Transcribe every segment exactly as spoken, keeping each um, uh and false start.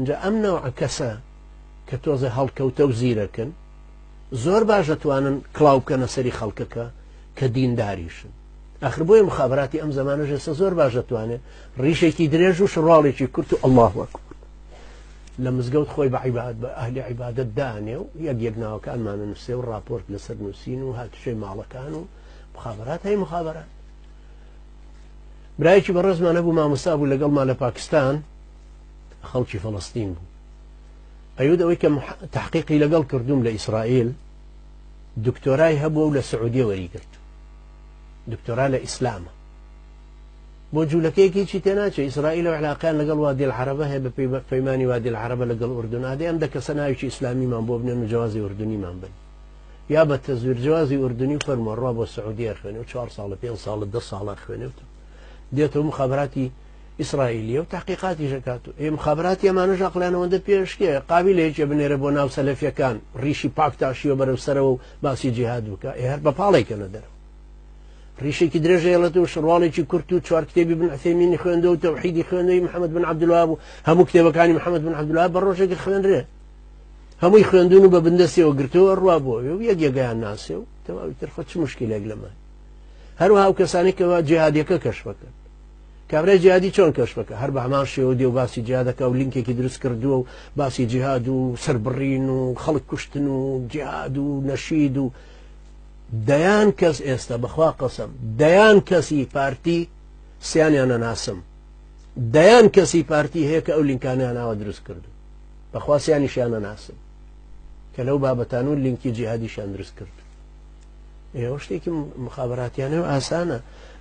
اینجا ئەم نەوعە کەسە کە تۆزێ هەڵکەوتە و زیرەکن زۆر باش دەتوانن کڵاو بکەنە سەری خەڵکەکە کە دینداریشن. ئاخر بۆیە مخابراتی ئەم زەمانەش ئێستا زۆر باش دەتوانێت ڕیشێکی درێژ و شڕواڵێکی کورت و ئەڵڵاهو ئەکبەر لە مزگەوت خۆی بە عیباد بە ئەهلی عیبادەت دانێ و یەک یەک ناوەکانمانە نووسێ و راپۆرت لەسەر نووسین و هاتوچۆی ماڵەکان و مخابرات هەی مخابرات. برایەکی بەڕێزمان هەبوو مامۆستا بوو لەگەڵمان لە پاکستان، خەڵکی فەڵەستین بوو. ئەیود ئەوەی کە تحقیقی لەگەڵ کردوم لە ئیسرائیل دکتۆرای هەبووە و لە سعودیە وەریگرت، دکتۆرا لە ئیسلامە. بۆ جوولەکەیەکی هیچی تێناچێ، ئیسرائیل و عێراقیان لەگەڵ وادی العەرەبە هەیە بە پەیمانی وادی العەرەبە لەگەڵ ئوردن، ئادەی ئەم دە کەسە ناوێکی ئیسلامیمان بۆ بنێن و جوازی ئوردنیمان بن، یا بە تەزویر جوازی ئوردنی و فەرمووە بۆ سعودیە خوێنێ و چوار ساڵە پێنج ساڵە دە ساڵە خوێنێ و دێتەوە مخابراتی ئیسرائیلیە و تحقیقاتی ژەکات و ئێ مخابراتی ئەمانەش عەقڵیانەوەندە پێشکێ قابیلەیەکێ بنێرە بۆ ناو سەلەفیەکان ڕیشی پاک تاشیوە بەرەو سەرەوە و باسی جیهاد بکە، ئێ هەر بە پاڵێکەنە دەرەوە. ڕیشێکی درێژەیەڵێت و شڕواڵێکی کورت و چوار کتێبی بن عثەیمینی خوێندەوە و تەوحیدی خوێندەوەی محەممەد بن عەبدولوهاب و هەموو کتێبەکانی محەممەد بن عەبدولوهاب بە ڕۆژێکی خوێنرێ، هەمووی خوێندون و بە بندەستیەوە گرتەوە ڕوا بۆوێ و یەک یەکەیان ناسێ و تەواوی تر خۆ چ مشکلێک لەمە. هەروەها ئەو کەسانەی کەوا جیهادیەکە کەشفەکەن، کابرای جیهادی چۆن کەشفەکە؟ هەر بە هەمان شێوە دێ و باسی جیهادەکە و لینکێکی دروست کردووە و باسی جیهاد و سەربڕین و خەڵک کوشتن و جیهاد و نەشید و دەیان کەس ئێستا بەخوا قەسەم دەیان کەسی پارتی سیانیان نەناسم، دەیان کەسی پارتی هەیە کە ئەو لینکانیان ناوە دروست کردو، بەخوا سیانیشیان نەناسم کە لەو بابەتان و لینکی جیهادیشیان دروست کرد. ئێوە شتێکی مخابراتیانە و ئاسانە.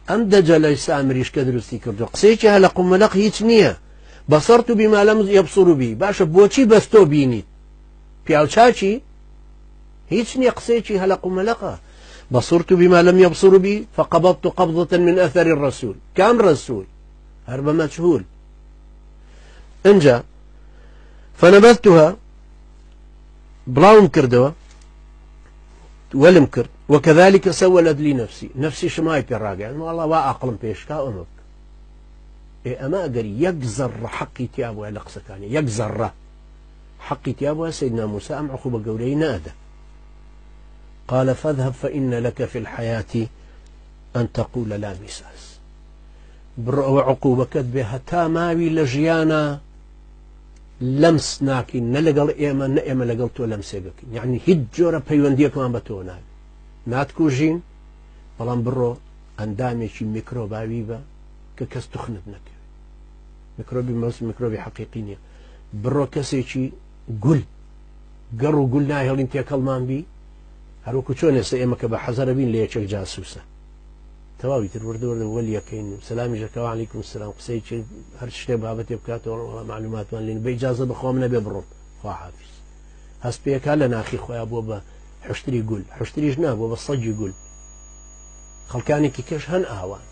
ئەم دەجەلەی سامریش کە دروستی کردو قسەیەکی هەلە قومەلەق هیچ نییە، بەسەرت و بیما لەم یەبصر بی. باشە بۆچی بەس تۆ بینیت؟ پیاوچاچی هیچ نییە، قسەیەکی هەلە قومەلەقە. بصرت بما لم يبصر بي فقبضت قبضة من أثر الرسول. كم رسول؟ هرب مجهول. انجا فنبذتها بلاوم كردوا ولم كرد وكذلك سولت لي نفسي نفسي شماي بيراجع يعني والله واقلم بيشكا أمك إيه أما أقر يقزر حقي تيابو على قصة يقزر حقي تيابو سيدنا موسى أم عقوبة قولي نادى قال فاذهب فإن لك في الحياة أن تقول لا مساس. بڕۆ عقوبەکەت بێ هەتا ماوی لە ژیانە لەمس ناکەین، نە لەگەڵ ئێمە نە ئێمە لەگەڵ تۆ لەمسێگەکەین، یعنی هیچ جۆرە پەیوەندیەکمان بە تۆ ناوێت، ناتکوژین، بەڵام بڕۆ ئەندامێکی میکرۆباوی بە کە کەس تخنت نەکەوێت. میکرۆبی مەس میکرۆبی حەقیقی نییە. بڕۆ کەسێکی گول گەڕ و گول ناهێڵین تێکەڵمان بی، هەروەکو چۆن ئێستا ئێمە کە بە حەزەرە بین لە یەکێک جاسوسە تەواوی تر وردە وردە وەلیەکەین و سەلامی ژەکەوە عەلەیکم سەلام قسەی هەر شتێ بابەتێ بکاتەوە وەڵا معلوماتمان لێن بە ئیجازە بەخوا من نەبێ بڕۆم خوا حافیز. هەست پێکا لە ناخی خۆیان بووە بە حشتری گول، حشتریش نابووە بە سەگی گول. خەڵکانێکی کەش هەن ئاوان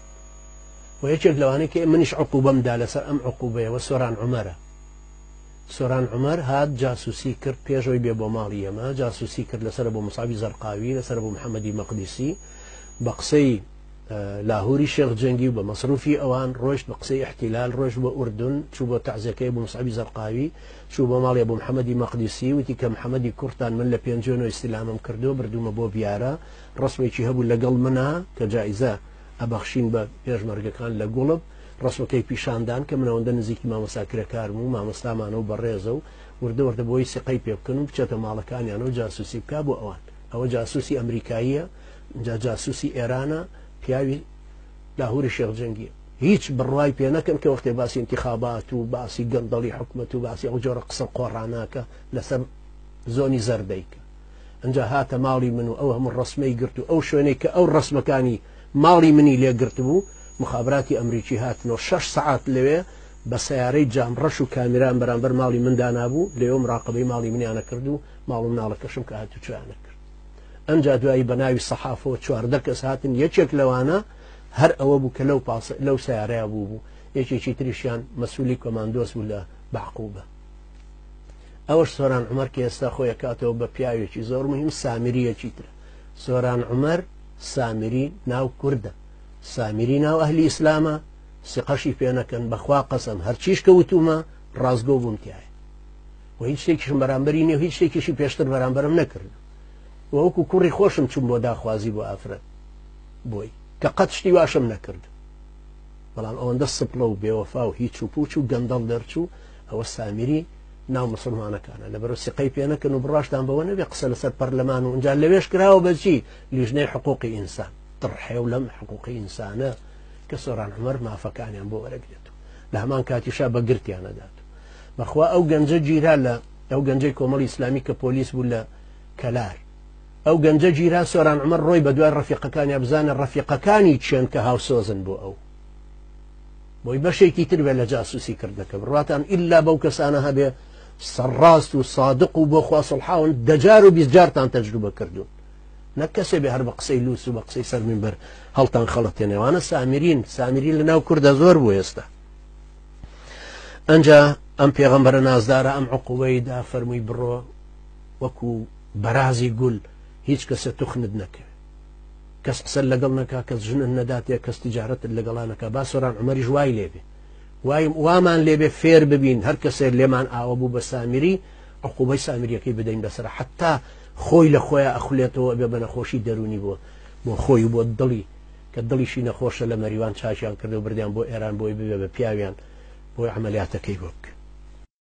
و یەکێک لەوانەیە کە منیش عقوبەم دا لەسەر ئەم عقوبەیەوە سۆران عومەرە. سۆران عومەر هات جاسوسی کرد پێشەوەی بێ بۆ ماڵی ئێمە، جاسوسی کرد لەسەر بۆ مصعبی زەرقاوی، لەسەر بۆ محەممەدی مەقدیسی، بە قسەی لاهوری شێخ جەنگی و بە مەسروفی ئەوان ڕۆیشت، بە قسەی احتیلال ڕۆیشت بۆ ئوردن، چوو بۆ تەعزیەکەی بۆ مصعبی زەرقاوی، چوو بۆ ماڵی بۆ محەممەدی مەقدیسی، وتی کە محەممەدی کوڕتان من لە پێنجوێنەوە ئیستیلامم کردو بردوومە بۆ بیارە، ڕسمێکی هەبوو لەگەڵ منە کە جایزە ئەبەخشین بە پێشمەرگەکان لە گوڵب، ڕسمەکەی پیشاندان کە من ئەوەندە نزیکی مامۆستا کرێکارم و مامۆستامانە و بەڕێزە و وردە وردە بۆی سیقەی پێ بکەن و بچێتە ماڵەکانیان و جاسوسی بکا بۆ ئەوان. ئەوە جاسوسی ئەمریکاییە، جا جاسوسی ئێرانە، پیاوی لاهوری شێخ جەنگیە. هیچ بڕوای پێ نەکەن کە وەختێ باسی انتخابات و باسی گەندەڵی حکومەت و باسی ئەو جۆرە قسە قۆڕاناکە لەسەر زۆنی زەردەیکە. ئەنجا هاتە ماڵی من و ئەو هەموو ڕسمەی گرت و ئەو شوێنەی کە ئەو ڕسمەکانی ماڵی منی لێگرت بوو، مخابراتی ئەمریکی هاتنەوە شەش سەعات لەوێ بە سیارەی جامڕەش و کامیران بەرامبەر ماڵی من دانابوو، لەوێ مراقبەی ماڵی منیانە کرد و ماڵ و مناڵەکەشم کە هاتوچۆیانە کرد. ئەنجا دوایی بە ناوی سەحافەوە چواردە کەس هاتن، یەکێک لەوانە هەر ئەوە بوو کە لەو پاس لەو سیارەیە بوو بوو، یەکێکی تریشیان مەسوولی کۆماندۆس بوو لە بەعقوبە. ئەوەش سۆران عومەر کە ئێستا خۆی کاتەوە بە پیاوێکی زۆر مهم سامریەکی ترە. سۆران عومەر سامری ناو کوردە، سامری ناو ئەهلی ئیسلامە، سیقەشی پێ نەکەن بەخوا قەسەم هەرچیش کە وتومە ڕاستگۆ بووم تایە. و هیچ شتێکیشم بەرامبەری نییە و هیچ شتێکیشی پێشتر بەرامبەرم نەکرد و وەکو کوڕی خۆشم چوم بۆ داخوازی بۆ ئافرەت بۆی کە قەت شتی واشم نەکرد. بەڵام ئەوەندە سپڵە و بێوەفا و هیچ و پوچ و گەندەڵ دەرچوو ئەوە سامیری ناو مسلمانەکانە. لەبەرەوە سیقەی پێ نەکەن و بڕاشتان بەوە نەبێ قسە لەسەر پەرلەمان و ئینجا لەوێش کراوە بەچی لیژنەی حقوقی ئینسان تڕحێو لەم حقوقی ئینسانە کە سۆران عومەر مافەکانیان بۆ وەرەگرێت لە هەمان کاتیشا بە گرتیانە دات. بەخوا ئەو گەنجە گیرا لە ئەو گەنجەی کۆمەڵی ئیسلامی کە پۆلیس بوو لە کەلار، ئەو گەنجە گیرا سۆران عومەر ڕۆی بە دوای ڕەفیقەکانیا بزانە ڕەفیقەکانی چێن کە هاوسۆزن بۆ ئەو، بۆی بەشێکی تر بێ لە جاسوسی کردنەکە. بڕواتان ئیلا بەو کەسانە هەبێ سەرڕاست و سادق و بۆ خوا سڵحاون دەجار و بیست جارتان تەجروبە کردوون، نەک کەسێ بێ هەر بە قسەی لوس و بە قسەی سەر مینبەر هەڵتان خەڵەتێنێوانە. سامیرین سامیرین لە ناو کوردە زۆر بوو ئێستا. ئەنجا ئەم پێغەمبەرە نازدارە ئەم عقوبەی دا فەرمووی بڕۆ وەکو بەرازی گول هیچ کەسێ توخنت نەکەوێ، کەس قسە لەگەڵ نەکا، کەس ژنت نەداتێ، کەس تیجارەتت لەگەڵا نەکا. با سۆران عومەریش وای لێبێ، وامان لێبێ فێر ببین هەر کەسێک لێمان ئاوە بوو بە سامیری عقوبەی سامیریەکەی بدەین بەسەر، حتا خۆی لە خۆیان ئەخولێتەوە بێ بە نەخۆشی دەرونی بۆ بۆ خۆی و بۆ دڵی کە دڵیشی نەخۆشە لە مەریوان چاکیان کرد و بردیان بۆ ئێران بۆی ببێ بە پیاویان بۆی عملیاتەکەی بۆ بکە.